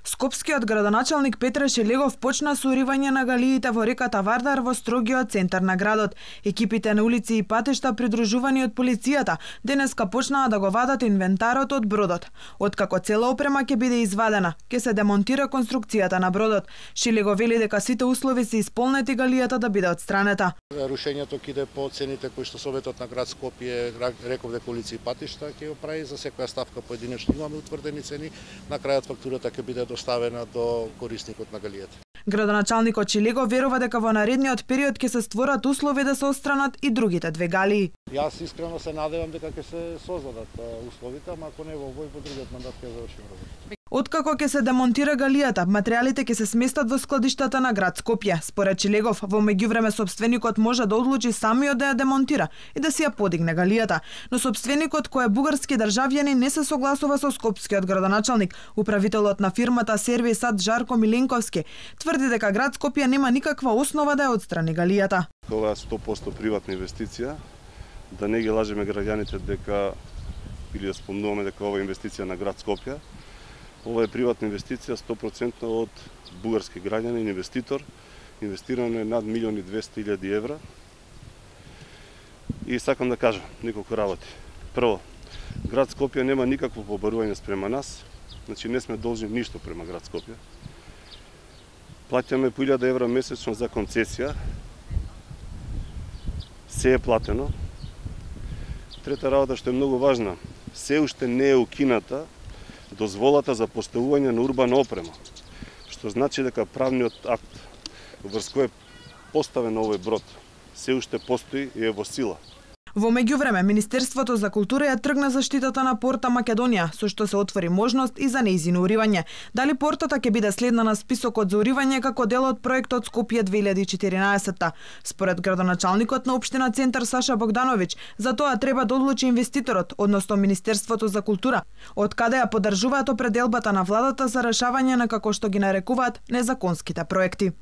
Скопскиот градоначалник Петре Шелегов почна со уривање на галиите во реката Вардар во строгиот центар на градот. Екипите на улици и патишта придружувани од полицијата денеска почнаа да го вадат инвентарот од бродот. Откако цела опрема ќе биде извадена, ќе се демонтира конструкцијата на бродот. Шелегов вели дека сите услови се исполнети галијата да биде отстранета. Рушењето ќе иде по цените кои што Советот на град Скопје реков дека улици и патишта ќе го прави за секоја ставка поединечно имаме утврдени цени, на крајот фактурата ќе биде доставена до корисникот на галијата. Градоначалникот Шелегов верува дека во наредниот период ќе се створат услови да се отстранат и другите две галии. Јас искрено се надевам дека ќе се создадат условите, ама ако не во овој, во другиот мандат ќе завршиме работа. Откако ќе се демонтира галијата, материјалите ќе се сместат во складиштата на град Скопје. Според Шелегов, во меѓувреме собственикот може да одлучи самиот да ја демонтира и да си ја подигне галијата, но собственикот кој е бугарски државјанин не се согласува со скопскиот градоначалник. Управителот на фирмата Сервисат Жарко Миленковски тврди дека град Скопје нема никаква основа да ја отстрани галијата. Ова е 100% приватна инвестиција, да не ги лажеме граѓаните дека или да спомнуваме дека ова е инвестиција на град Скопје. Ова е приватна инвестиција 100% од бугарски граѓанин, инвеститор. Инвестирано е над 1.200.000 евра. И сакам да кажам неколку работи. Прво, град Скопје нема никакво побарување спрема нас, значи не сме должни ништо према град Скопје. Плаќаме по 1.000 евра месечно за концесија. Се е платено. Трета работа што е многу важна, се уште не е укината дозволата за поставување на урбана опрема, што значи дека правниот акт врз кој е поставен овој брод се уште постои и е во сила. Во меѓувреме, Министерството за култура ја тргна заштитата на порта Македонија, со што се отвори можност и за нејзино уривање. Дали портата ќе биде следна на списокот за уривање како дел од проектот Скопје 2014? Според градоначалникот на општина Центар Саша Богдановиќ, за тоа треба да одлучи инвеститорот, односно Министерството за култура, од каде ја поддржуваат определбата на владата за решавање на, како што ги нарекуваат, незаконските проекти.